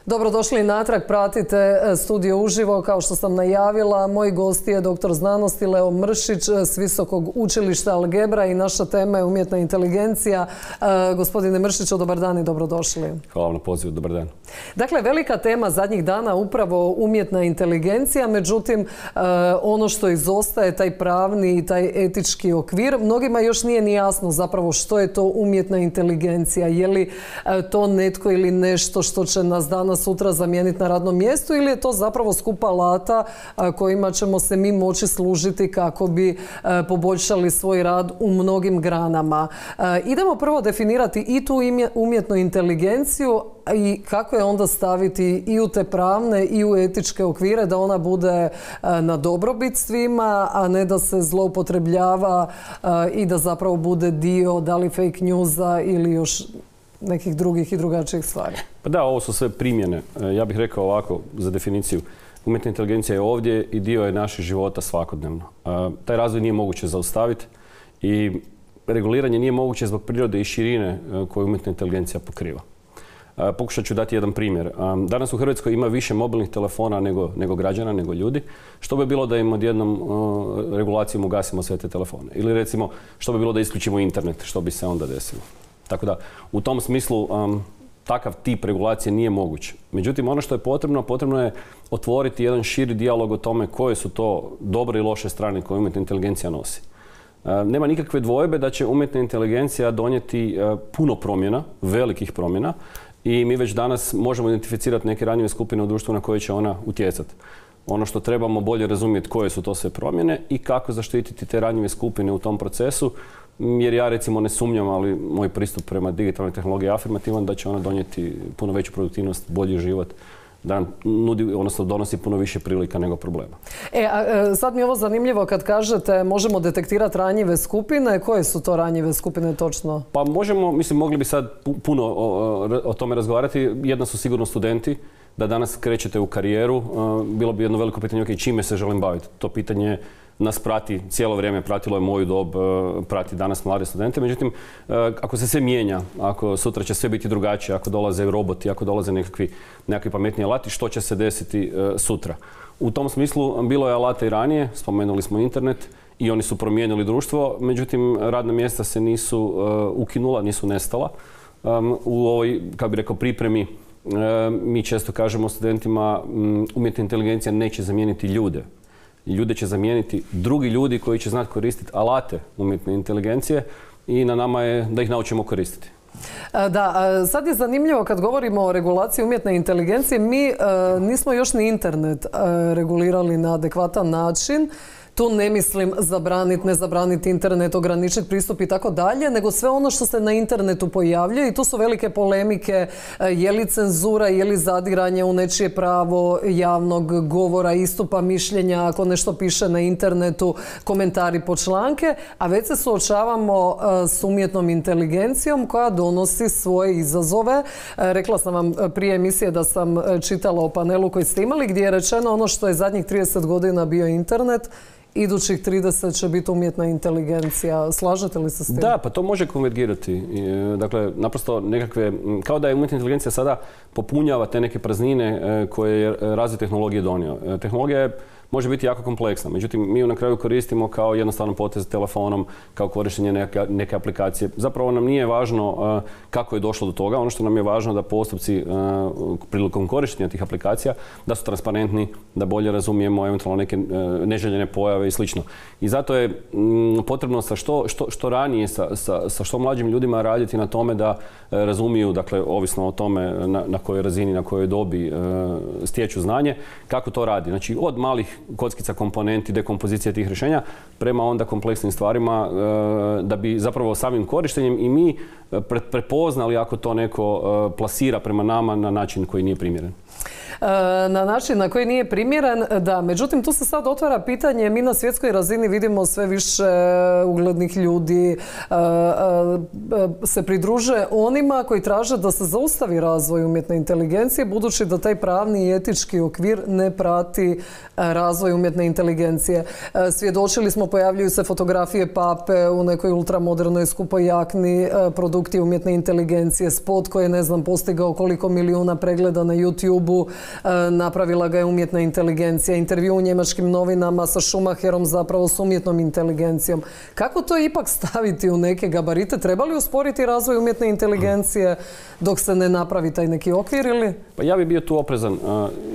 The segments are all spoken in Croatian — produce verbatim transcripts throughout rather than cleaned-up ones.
Dobrodošli natrag, pratite Studio uživo. Kao što sam najavila, moj gost je doktor znanosti Leo Mršić s Visokog učilišta Algebra i naša tema je umjetna inteligencija. Gospodine Mršiću, dobar dan i dobrodošli. Hvala vam na pozivu, dobar dan. Dakle, velika tema zadnjih dana upravo umjetna inteligencija, međutim, ono što izostaje, taj pravni i taj etički okvir, mnogima još nije ni jasno zapravo što je to umjetna inteligencija. Je li to netko ili nešto što će nas danas sutra zamijeniti na radnom mjestu ili je to zapravo skup alata kojima ćemo se mi moći služiti kako bi poboljšali svoj rad u mnogim granama. Idemo prvo definirati i tu umjetnu inteligenciju i kako je onda staviti i u te pravne i u etičke okvire da ona bude na dobrobit svima, a ne da se zloupotrebljava i da zapravo bude dio da li fake newsa ili još nekih drugih i drugačijih stvari. Pa da, ovo su sve primjene. Ja bih rekao ovako za definiciju. Umjetna inteligencija je ovdje i dio je naših života svakodnevno. Taj razvoj nije moguće zaustaviti i reguliranje nije moguće zbog prirode i širine koju umjetna inteligencija pokriva. Pokušat ću dati jedan primjer. Danas u Hrvatskoj ima više mobilnih telefona nego, nego građana, nego ljudi. Što bi bilo da im odjednom uh, regulacijom ugasimo sve te telefone? Ili recimo, što bi bilo da isključimo internet? Što bi se onda desilo? Tako da, u tom smislu um, takav tip regulacije nije moguć. Međutim, ono što je potrebno, potrebno je otvoriti jedan širi dijalog o tome koje su to dobre i loše strane koje umjetna inteligencija nosi. Uh, nema nikakve dvojbe da će umjetna inteligencija donijeti uh, puno promjena, velikih promjena, i mi već danas možemo identificirati neke ranjive skupine u društvu na koje će ona utjecati. Ono što trebamo bolje razumjeti koje su to sve promjene i kako zaštititi te ranjive skupine u tom procesu, jer ja recimo ne sumnjam, ali moj pristup prema digitalnoj tehnologiji je afirmativan da će ona donijeti puno veću produktivnost, bolji život, da nam nudi, odnosno donosi puno više prilika nego problema. E, a, sad mi je ovo zanimljivo kad kažete možemo detektirati ranjive skupine. Koje su to ranjive skupine točno? Pa možemo, mislim, mogli bi sad puno o, o tome razgovarati. Jedna su sigurno studenti. Da danas krećete u karijeru, bilo bi jedno veliko pitanje, okay, čime se želim baviti. To pitanje nas prati cijelo vrijeme, pratilo je moju dob, prati danas mlade studente. Međutim, ako se sve mijenja, ako sutra će sve biti drugačije, ako dolaze roboti, ako dolaze nekakvi, nekakvi pametni alati, što će se desiti sutra? U tom smislu bilo je alata i ranije, spomenuli smo internet i oni su promijenili društvo, međutim radna mjesta se nisu ukinula, nisu nestala. U ovoj, kako bi rekao, pripremi mi često kažemo studentima umjetna inteligencija neće zamijeniti ljude. Ljude će zamijeniti drugi ljudi koji će znati koristiti alate umjetne inteligencije i na nama je da ih naučimo koristiti. Da, sad je zanimljivo kad govorimo o regulaciji umjetne inteligencije, mi nismo još ni internet regulirali na adekvatan način. Tu ne mislim zabraniti, ne zabraniti internet, ograničiti pristup i tako dalje, nego sve ono što se na internetu pojavljuje i tu su velike polemike, je li cenzura, je li zadiranje u nečije pravo javnog govora, istupa mišljenja, ako nešto piše na internetu, komentari po članke, a već se suočavamo s umjetnom inteligencijom koja donosi svoje izazove. Rekla sam vam prije emisije da sam čitala o panelu koji ste imali gdje je rečeno ono što je zadnjih trideset godina bio internet, idućih trideset će biti umjetna inteligencija. Slažete li se s tim? Da, pa to može konvergirati. Dakle, naprosto nekakve, kao da je umjetna inteligencija sada popunjava te neke praznine koje je razvoj tehnologije donio. Tehnologija je može biti jako kompleksna. Međutim, mi ju na kraju koristimo kao jednostavno potez telefonom, kao korištenje neke, neke aplikacije. Zapravo nam nije važno uh, kako je došlo do toga. Ono što nam je važno da postupci uh, prilikom korištenja tih aplikacija da su transparentni, da bolje razumijemo eventualno neke uh, neželjene pojave i slično. I zato je um, potrebno sa što, što, što ranije, sa, sa, sa što mlađim ljudima raditi na tome da uh, razumiju, dakle, ovisno o tome na, na kojoj razini, na kojoj dobi uh, stječu znanje, kako to radi. Znači, od malih kockica komponenti, dekompozicije tih rješenja, prema onda kompleksnim stvarima da bi zapravo samim korištenjem i mi prepoznali ako to neko plasira prema nama na način koji nije primjeren. na način na koji nije primjeren. Da, međutim, tu se sad otvara pitanje, mi na svjetskoj razini vidimo sve više uglednih ljudi se pridruže onima koji traže da se zaustavi razvoj umjetne inteligencije, budući da taj pravni i etički okvir ne prati razvoj umjetne inteligencije. Svjedočili smo, pojavljuju se fotografije pape u nekoj ultramodernoj skupoj jakni, produkti umjetne inteligencije, spot koji je, ne znam, postigao koliko milijuna pregleda na YouTube-u, napravila ga je umjetna inteligencija, intervju u njemačkim novinama sa Schumacherom, zapravo s umjetnom inteligencijom. Kako to ipak staviti u neke gabarite? Treba li usporiti razvoj umjetne inteligencije dok se ne napravi taj neki okvir ili? Pa ja bih bio tu oprezan.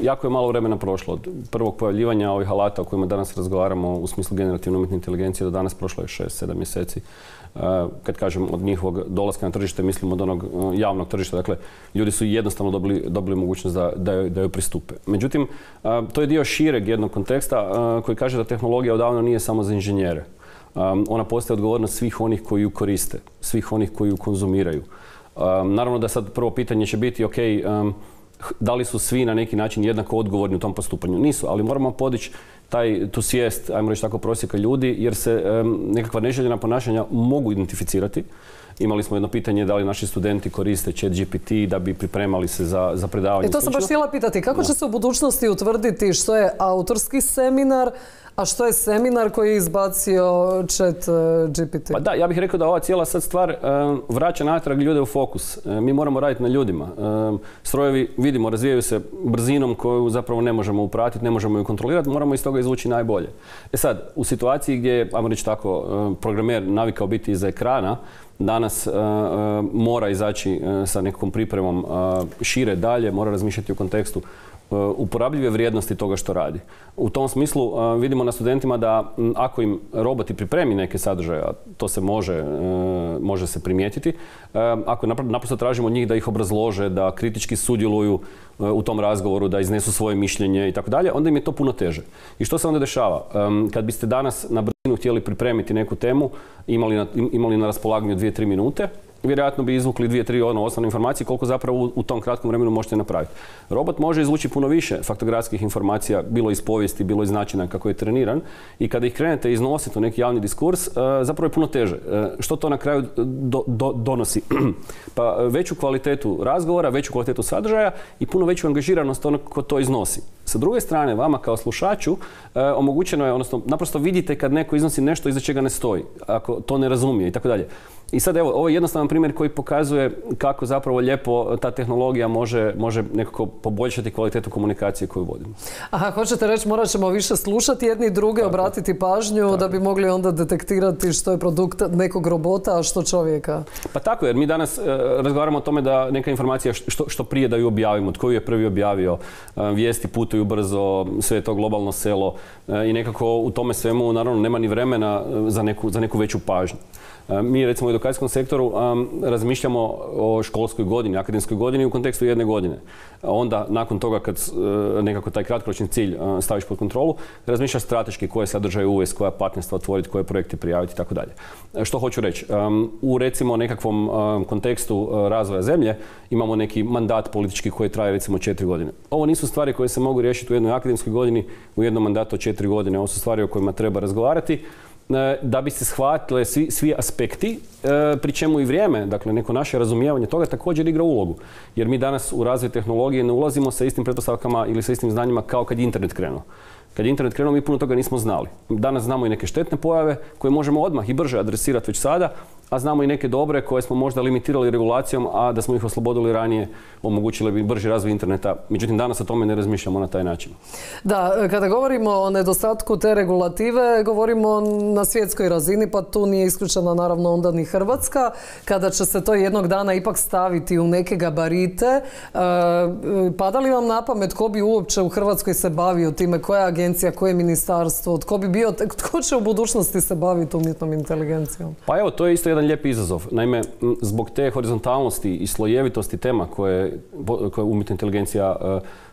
Jako je malo vremena prošlo od prvog pojavljivanja ovih alata o kojima danas razgovaramo u smislu generativne umjetne inteligencije do danas prošlo je šest sedam mjeseci. Kad kažem od njihovog dolaska na tržište, mislim od onog javnog tržišta. Dakle, ljudi su jednostavno dobili, dobili mogućnost da, da, joj, da joj pristupe. Međutim, to je dio šireg jednog konteksta koji kaže da tehnologija odavno nije samo za inženjere. Ona postaje odgovornost svih onih koji ju koriste, svih onih koji ju konzumiraju. Naravno da sad prvo pitanje će biti, ok, da li su svi na neki način jednako odgovorni u tom postupanju? Nisu, ali moramo podići taj, tu svijest, ajmo reći tako, prosjeka ljudi, jer se um, nekakva neželjena ponašanja mogu identificirati. Imali smo jedno pitanje da li naši studenti koriste chat G P T da bi pripremali se za, za predavanje. I to sam baš htjela pitati. Kako će se u budućnosti utvrditi što je autorski seminar, a što je seminar koji je izbacio chat G P T? Pa da, ja bih rekao da ova cijela sad stvar um, vraća natrag ljude u fokus. Um, mi moramo raditi na ljudima. Um, strojevi, vidimo, razvijaju se brzinom koju zapravo ne možemo upratiti, ne možemo ju kontrolirati, moramo iz toga izvući najbolje. E sad, u situaciji gdje je, ajmo reći tako, um, programer navikao biti iza ekrana, danas uh, uh, mora izaći uh, sa nekom pripremom uh, šire dalje, mora razmišljati u kontekstu uh, uporabljive vrijednosti toga što radi. U tom smislu uh, vidimo na studentima da m, ako im roboti pripremi neke sadržaje, a to se može, uh, može se primijetiti, uh, ako naprosto tražimo od njih da ih obrazlože, da kritički sudjeluju uh, u tom razgovoru, da iznesu svoje mišljenje i tako dalje, onda im je to puno teže. I što se onda dešava? Um, kad biste danas na brzinu htjeli pripremiti neku temu, imali na, imali na raspolaganju dvije tri minute, vjerojatno bi izvukli dvije tri ono, osnovne informacije koliko zapravo u, u tom kratkom vremenu možete napraviti. Robot može izvući puno više faktografskih informacija, bilo iz povijesti, bilo iz načina kako je treniran, i kada ih krenete iznositi u neki javni diskurs, uh, zapravo je puno teže. Uh, što to na kraju do, do, donosi? Pa veću kvalitetu razgovora, veću kvalitetu sadržaja i puno veću angažiranost onog ko to iznosi. Sa druge strane, vama kao slušaču uh, omogućeno je, odnosno naprosto vidite kad neko iznosi nešto iza čega ne stoji, ako to ne razumije i tako dalje. I sad evo, ovo je jednostavan primjer koji pokazuje kako zapravo lijepo ta tehnologija može, može nekako poboljšati kvalitetu komunikacije koju vodimo. Aha, hoćete reći morat ćemo više slušati jedni druge, tako, obratiti pažnju, tako, da bi mogli onda detektirati što je produkt nekog robota, a što čovjeka. Pa tako, jer mi danas e, razgovaramo o tome da neka informacija što, što prije da ju objavimo, tko ju je prvi objavio, e, vijesti putuju brzo, sve je to globalno selo e, i nekako u tome svemu naravno nema ni vremena za neku, za neku veću pažnju. Mi recimo u edukacijskom sektoru um, razmišljamo o školskoj godini, akademskoj godini u kontekstu jedne godine. Onda nakon toga kad uh, nekako taj kratkoročni cilj uh, staviš pod kontrolu, razmišljaš strateški koje sadržaje uvesti, koja partnerstva otvoriti, koje projekte prijaviti i tako dalje. Što hoću reći? Um, u recimo nekakvom um, kontekstu uh, razvoja zemlje imamo neki mandat politički koji traje recimo četiri godine. Ovo nisu stvari koje se mogu riješiti u jednoj akademskoj godini, u jednom mandatu od četiri godine. Ovo su stvari o kojima treba razgovarati da bi se shvatile svi, svi aspekti, pri čemu i vrijeme, dakle neko naše razumijevanje toga također igra ulogu. Jer mi danas u razvoj tehnologije ne ulazimo sa istim pretpostavkama ili sa istim znanjima kao kad je internet krenuo. Kad je internet krenuo, mi puno toga nismo znali. Danas znamo i neke štetne pojave koje možemo odmah i brže adresirati već sada, a znamo i neke dobre koje smo možda limitirali regulacijom, a da smo ih oslobodili ranije, omogućili bi brži razvoj interneta. Međutim, danas o tome ne razmišljamo na taj način. Da, kada govorimo o nedostatku te regulative, govorimo na svjetskoj razini, pa tu nije isključena naravno onda ni Hrvatska. Kada će se to jednog dana ipak staviti u neke gabarite, pada li vam na pamet tko bi uopće u Hrvatskoj se bavio time, koja agencija, koje ministarstvo, tko bi bio, tko će u budućnosti se baviti umjetnom inteligencijom? Pa evo, to je isto jedan lijep izazov. Naime, zbog te horizontalnosti i slojevitosti tema koje, koje umjetna inteligencija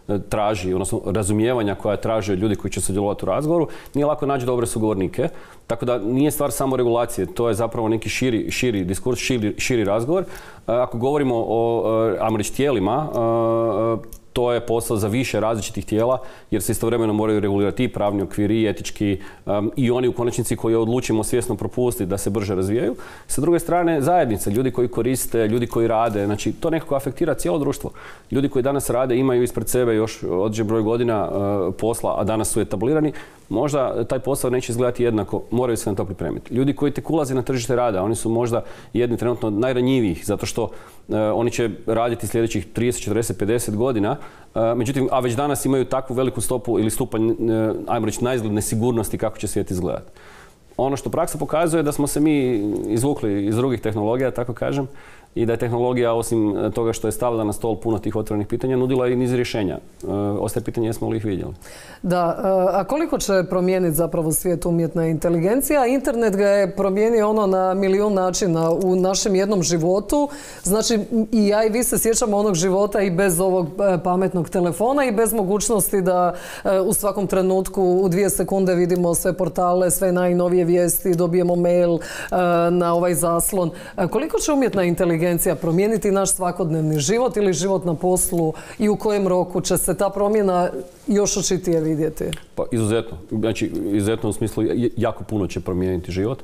uh, traži, odnosno razumijevanja koja traže od ljudi koji će sudjelovati u razgovoru, nije lako naći dobre sugovornike. Tako da nije stvar samo regulacije, to je zapravo neki širi, širi diskurs, širi, širi razgovor. Uh, ako govorimo o uh, ajmo reći tijelima, uh, to je posao za više različitih tijela, jer se istovremeno moraju regulirati i pravni okviri, i etički, um, i oni u konačnici koji odlučimo svjesno propustiti da se brže razvijaju. Sa druge strane, zajednice, ljudi koji koriste, ljudi koji rade, znači to nekako afektira cijelo društvo. Ljudi koji danas rade imaju ispred sebe još određen broj godina uh, posla, a danas su etablirani, možda taj posao neće izgledati jednako, moraju se na to pripremiti. Ljudi koji tek ulaze na tržište rada, oni su možda jedni trenutno od najranjivijih, zato što uh, oni će raditi sljedećih trideset, četrdeset, pedeset godina, uh, međutim, a već danas imaju takvu veliku stopu ili stupanj, uh, ajmo reći, naizgled nesigurnosti kako će svijet izgledati. Ono što praksa pokazuje da smo se mi izvukli iz drugih tehnologija, tako kažem, i da je tehnologija, osim toga što je stavila na stol puno tih otvorenih pitanja, nudila i niz rješenja. E, ostaje pitanje jesmo li ih vidjeli. Da, a koliko će promijeniti zapravo svijet umjetna inteligencija? Internet ga je promijenio ono na milijun načina u našem jednom životu. Znači i ja i vi se sjećamo onog života i bez ovog pametnog telefona i bez mogućnosti da u svakom trenutku u dvije sekunde vidimo sve portale, sve najnovije vijesti, dobijemo mail na ovaj zaslon. Koliko će umjetna inteligencija promijeniti naš svakodnevni život ili život na poslu i u kojem roku će se ta promjena još očitije vidjeti? Pa izuzetno. Znači, izuzetno u smislu jako puno će promijeniti život.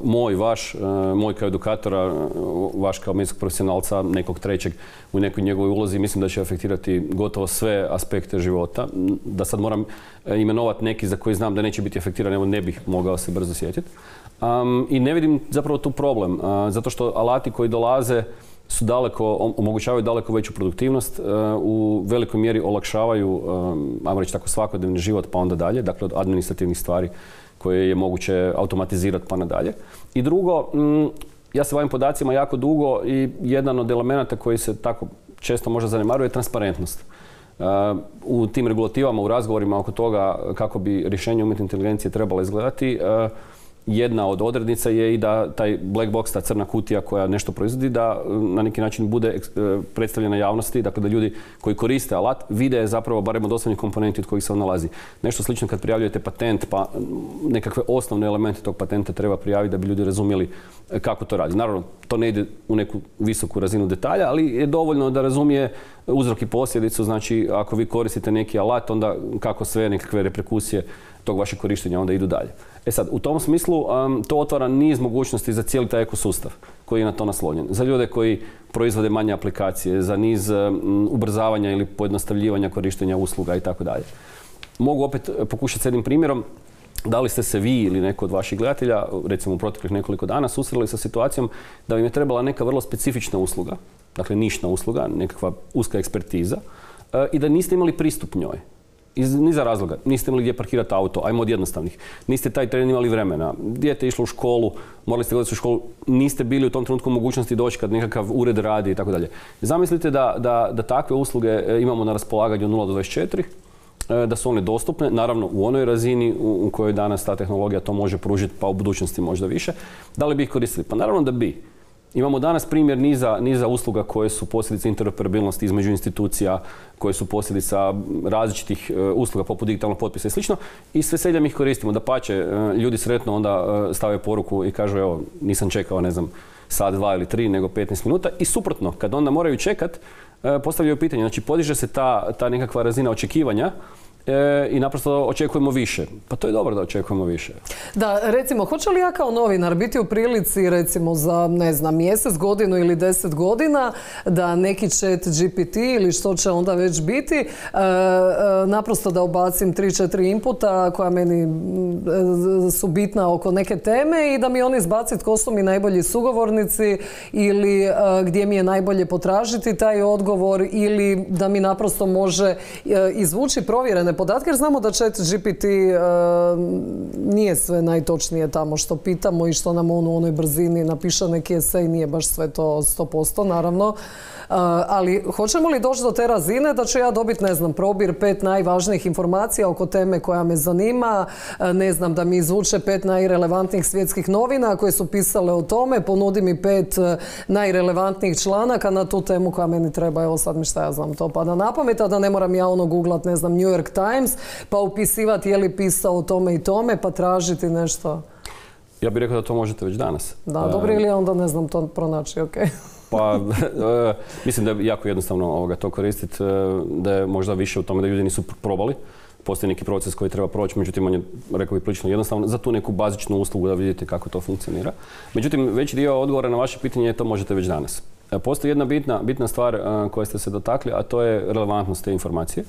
Moj, vaš, moj kao edukatora, vaš kao medijskog profesionalca, nekog trećeg u nekoj njegovoj ulozi, mislim da će afektirati gotovo sve aspekte života. Da sad moram imenovati neki za koji znam da neće biti afektiran, evo ne bih mogao se brzo sjetiti. Um, I ne vidim zapravo tu problem, uh, zato što alati koji dolaze su daleko, omogućavaju daleko veću produktivnost, uh, u velikoj mjeri olakšavaju, um, ajmo reći tako, svakodnevni život pa onda dalje, dakle od administrativnih stvari koje je moguće automatizirati pa nadalje. I drugo, mm, ja se bavim podacima jako dugo i jedan od elemenata koji se tako često možda zanemaruje je transparentnost. Uh, u tim regulativama, u razgovorima oko toga kako bi rješenje umjetne inteligencije trebalo izgledati, uh, jedna od odrednica je i da taj black box, ta crna kutija koja nešto proizvodi, da na neki način bude predstavljena javnosti, dakle da ljudi koji koriste alat vide zapravo barem od osnovnih komponenti od kojih se on nalazi. Nešto slično kad prijavljujete patent, pa nekakve osnovne elemente tog patenta treba prijaviti da bi ljudi razumjeli kako to radi. Naravno, to ne ide u neku visoku razinu detalja, ali je dovoljno da razumije uzrok i posljedicu. Znači, ako vi koristite neki alat, onda kako sve nekakve reperkusije tog vašeg korištenja onda idu dalje. E sad, u tom smislu um, to otvara niz mogućnosti za cijeli taj ekosustav koji je na to naslonjen. Za ljude koji proizvode manje aplikacije, za niz um, ubrzavanja ili pojednostavljivanja korištenja usluga i tako dalje. Mogu opet pokušati s jednim primjerom. Da li ste se vi ili neko od vaših gledatelja, recimo u proteklih nekoliko dana, susreli sa situacijom da vam je trebala neka vrlo specifična usluga, dakle nišna usluga, nekakva uska ekspertiza, uh, i da niste imali pristup njoj? Iz niza razloga. Niste imali gdje parkirati auto, ajmo od jednostavnih. Niste taj tren imali vremena. Dijete je išlo u školu, morali ste gledati u školu, niste bili u tom trenutku mogućnosti doći kad nekakav ured radi i tako dalje. Zamislite da, da, da takve usluge imamo na raspolaganju od nula do dvadeset četiri, da su one dostupne, naravno u onoj razini u, u kojoj danas ta tehnologija to može pružiti, pa u budućnosti možda više. Da li bi ih koristili? Pa naravno da bi. Imamo danas primjer niza, niza usluga koje su posljedice interoperabilnosti između institucija, koje su posljedica različitih uh, usluga poput digitalnog potpisa i slično, i s veseljem ih koristimo. Dapače, uh, ljudi sretno onda uh, stave poruku i kažu evo, nisam čekao, ne znam, sat, dva ili tri, nego petnaest minuta, i suprotno, kad onda moraju čekat, uh, postavljaju pitanje. Znači, podiže se ta, ta nekakva razina očekivanja E, i naprosto očekujemo više. Pa to je dobro da očekujemo više. Da, recimo, hoće li ja kao novinar biti u prilici, recimo, za, ne znam, mjesec, godinu ili deset godina, da neki chat G P T ili što će onda već biti, e, e, naprosto da ubacim tri četiri inputa koja meni e, su bitna oko neke teme i da mi oni izbaci tko su mi najbolji sugovornici ili e, gdje mi je najbolje potražiti taj odgovor, ili da mi naprosto može e, izvući provjerene podatke, jer znamo da chat G P T e, nije sve najtočnije tamo što pitamo i što nam on u onoj brzini napiše neki esej, nije baš sve to sto posto naravno. Uh, ali hoćemo li doći do te razine da ću ja dobiti, ne znam, probir pet najvažnijih informacija oko teme koja me zanima, uh, ne znam, da mi izvuče pet najrelevantnijih svjetskih novina koje su pisale o tome, ponudi mi pet uh, najrelevantnijih članaka na tu temu koja meni treba, evo sad mi šta ja znam, to pada na pamet, a da ne moram ja ono googlat, ne znam, New York Times, pa upisivati je li pisao o tome i tome, pa tražiti nešto. Ja bih rekao da to možete već danas. Da, dobro, ili ja onda ne znam to pronaći, okej. Okay. Pa, mislim da je jako jednostavno ovoga to koristiti, da je možda više u tome da ljudi nisu probali. Postoji neki proces koji treba proći, međutim on je, rekao bih, prilično jednostavno za tu neku bazičnu uslugu da vidite kako to funkcionira. Međutim, veći dio odgovora na vaše pitanje je to možete već danas. Postoji jedna bitna, bitna stvar koje ste se dotakli, a to je relevantnost te informacije.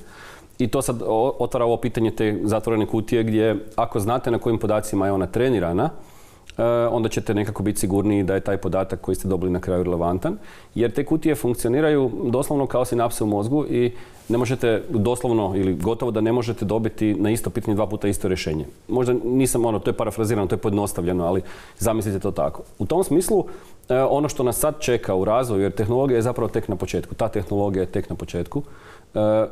I to sad otvara ovo pitanje te zatvorene kutije gdje ako znate na kojim podacima je ona trenirana, onda ćete nekako biti sigurniji da je taj podatak koji ste dobili na kraju relevantan. Jer te kutije funkcioniraju doslovno kao sinapse u mozgu i ne možete doslovno ili gotovo da ne možete dobiti na isto pitanje dva puta isto rješenje. Možda nisam ono, to je parafrazirano, to je pojednostavljeno, ali zamislite to tako. U tom smislu, ono što nas sad čeka u razvoju, jer tehnologija je zapravo tek na početku. Ta tehnologija je tek na početku.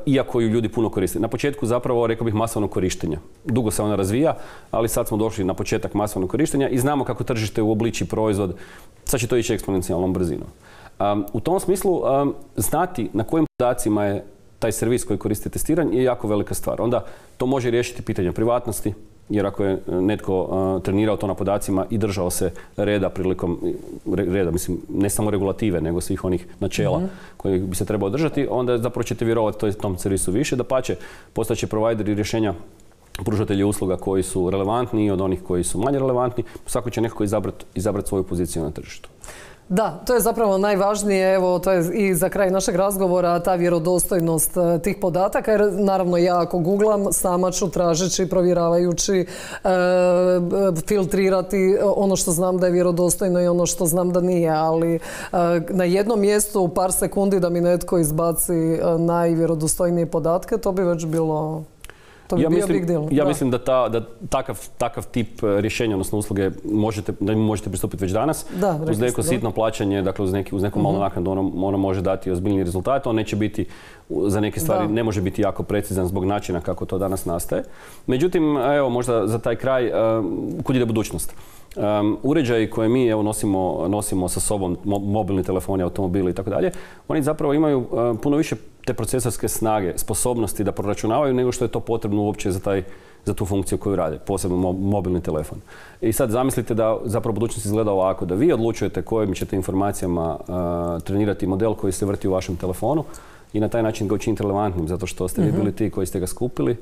Iako ju ljudi puno koriste. Na početku zapravo, rekao bih, masovnog korištenja. Dugo se ona razvija, ali sad smo došli na početak masovnog korištenja i znamo kako tržište uobliči proizvod. Sad će to ići eksponencijalnom brzinom. Um, u tom smislu, um, znati na kojim podacima je taj servis koji koristi testiranje je jako velika stvar. Onda to može riješiti pitanje privatnosti, jer ako je netko uh, trenirao to na podacima i držao se reda prilikom, reda, mislim, ne samo regulative, nego svih onih načela mm-hmm. koji bi se trebao držati, onda zapravo ćete vjerovati tom servisu više. Dapače, postaće provajderi rješenja, pružatelji usluga koji su relevantni od onih koji su manje relevantni. Svako će nekako izabrati izabrat svoju poziciju na tržištu. Da, to je zapravo najvažnije, evo, to je i za kraj našeg razgovora, ta vjerodostojnost tih podataka, jer naravno ja ako googlam, sama ću tražeći, provjeravajući, e, filtrirati ono što znam da je vjerodostojno i ono što znam da nije, ali e, na jednom mjestu u par sekundi da mi netko izbaci najvjerodostojnije podatke, to bi već bilo... To bi ja bio mislim, big deal. Ja da. mislim da, ta, da takav, takav tip rješenja, odnosno usluge, možete, da im možete pristupiti već danas. Da, uz neko ste, sitno plaćanje, dakle uz, neki, uz neku malu uh-huh. naknadu ono, ono može dati ozbiljni rezultat. On neće biti, za neke stvari, da. ne može biti jako precizan zbog načina kako to danas nastaje. Međutim, evo možda za taj kraj, uh, kud ide budućnost? Um, uređaji koje mi evo, nosimo, nosimo sa sobom, mo, mobilni telefoni, automobili i tako dalje, oni zapravo imaju uh, puno više te procesorske snage, sposobnosti da proračunavaju nego što je to potrebno uopće za, taj, za tu funkciju koju rade, posebno mo, mobilni telefon. I sad zamislite da zapravo budućnost izgleda ovako, da vi odlučujete kojim ćete informacijama uh, trenirati model koji se vrti u vašem telefonu i na taj način ga učiniti relevantnim, zato što ste vi bili ti koji ste ga skupili.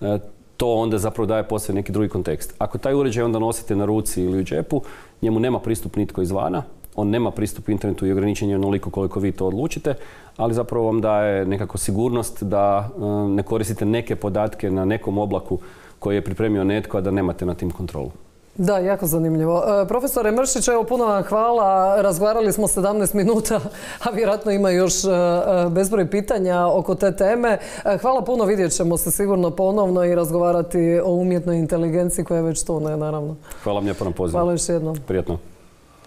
Uh, to onda zapravo daje posve neki drugi kontekst. Ako taj uređaj onda nosite na ruci ili u džepu, njemu nema pristup nitko izvana, on nema pristup internetu i ograničen je onoliko koliko vi to odlučite, ali zapravo vam daje nekako sigurnost da um, ne koristite neke podatke na nekom oblaku koji je pripremio netko, a da nemate na tim kontrolu. Da, jako zanimljivo. E, profesore Mršić, evo puno vam hvala. Razgovarali smo sedamnaest minuta, a vjerojatno ima još e, bezbroj pitanja oko te teme. E, hvala puno, vidjet ćemo se sigurno ponovno i razgovarati o umjetnoj inteligenciji koja je već tu, ne, naravno. Hvala vam lijepo na pozivu. Hvala još jednom. Prijetno.